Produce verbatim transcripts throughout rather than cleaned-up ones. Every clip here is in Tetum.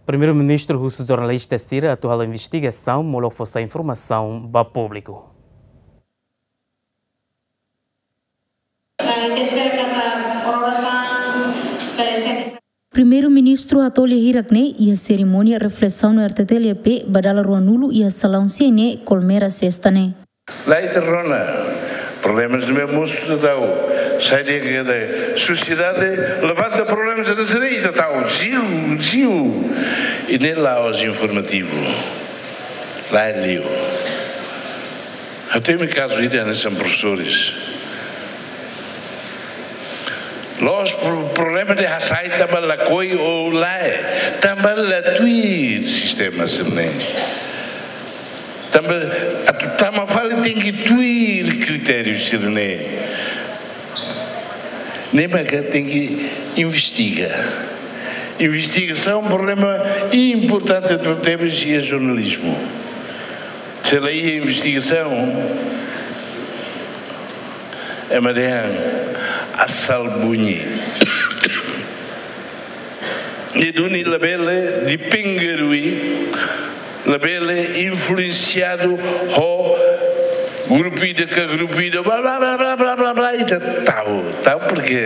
Primeiru-Ministru husu jornalista sira atu halo investigasaun molok fó sai informasaun ba públiku. Primeiru-Ministru hato'o lia hirak ne'e iha serimónia reflesaun no R T T L P ba dala ruanulu iha salaun C N E Colmera sesta ne'e. Lae, ita rona, problemas ne'ebé mosu ita tau. Sai de'it kada sosiedade levanta problemas ita sira, ita tau, ziu, ziu. I ne'e la'ós informativu. Lae, liu. Ha'u temi kazu ida hanesan profesores. La'ós pro-, problema de hasai tanba lakohi ou lae, tanba la tuir sistema sira-ne'e. Tanba atu tama fali tenke tuir kritériu sira-ne'e. Ne'e maka tenke investiga. Investigasaun problema importante tebes iha jornalizmu. Se la iha investigasaun, ema dehan asal bunyi. Ne'e duni labele dipengarui, labele influensiadu ho grupu ida ka grupu ida, bla, bla, bla, ita tau, tau porke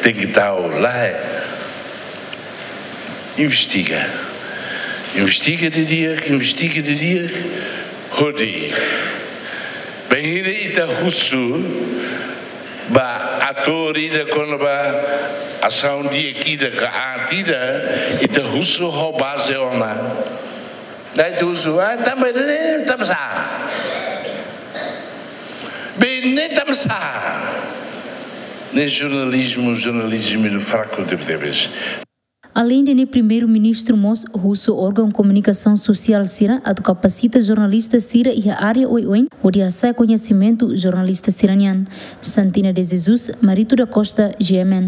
tenke tau, lae. Investiga. Investiga didi'ak, investiga didi'ak, hodi. Bainhira ita husu ba atór ida kona-ba asaun di'ak ida ka aat ida, ita husu ho baze ona. Lae ita husu, ah, tanba ne'e, tanba sá. Be ne'e tanba sá. Ne'e jornalizmu, jornalizmu fraku tebetebes. Aleinde ne'e, Primeiru-Ministru mós husu órgaun komunikasaun sosiál sira atu kapasita jornalista sira iha área oioin, hodi hasa'e koñesimentu jornalista sira-nian. Santina de Jesus, Marito da Costa, G M N.